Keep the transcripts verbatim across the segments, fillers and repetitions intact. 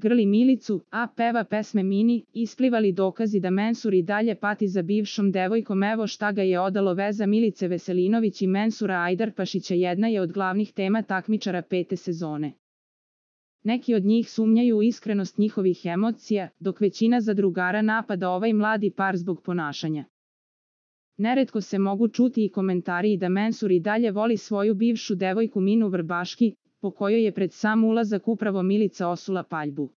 grli Milicu, a peva pesme Mini, isplivali dokazi da Mensur i dalje pati za bivšom devojkom. Evo šta ga je odalo. Veza Milice Veselinović i Mensura Ajdarpašića jedna je od glavnih tema takmičara pete sezone. Neki od njih sumnjaju u iskrenost njihovih emocija, dok većina zadrugara napada ovaj mladi par zbog ponašanja. Neretko se mogu čuti i komentari da Mensur i dalje voli svoju bivšu devojku Minu Vrbaški, po kojoj je pred sam ulazak upravo Milica osula paljbu.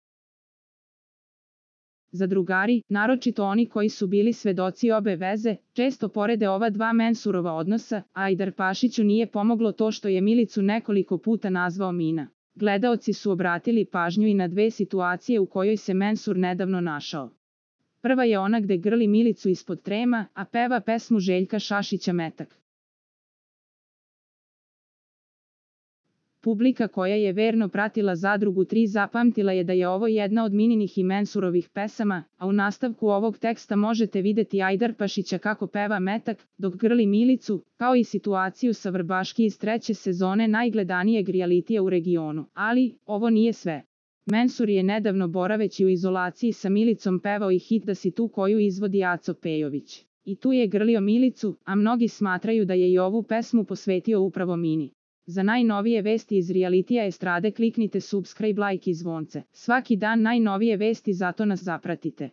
Zadrugari, naročito oni koji su bili svedoci obe veze, često porede ova dva Mensurova odnosa, a Ajdarpašiću nije pomoglo to što je Milicu nekoliko puta nazvao Mina. Gledaoci su obratili pažnju i na dve situacije u kojoj se Mensur nedavno našao. Prva je ona gde grli Milicu ispod trema, a peva pesmu Željka Šašića Metak. Publika koja je verno pratila Zadrugu tri zapamtila je da je ovo jedna od Mininih i Mensurovih pesama, a u nastavku ovog teksta možete videti Ajdarpašića kako peva Metak, dok grli Milicu, kao i situaciju sa Vrbaški iz treće sezone najgledanijeg realitija u regionu. Ali, ovo nije sve. Mensur je nedavno boraveći u izolaciji sa Milicom pevao i hit Da si tu koju izvodi Aco Pejović. I tu je grlio Milicu, a mnogi smatraju da je i ovu pesmu posvetio upravo Mini. Za najnovije vesti iz realitija estrade kliknite subscribe, like i zvonce. Svaki dan najnovije vesti, zato nas zapratite.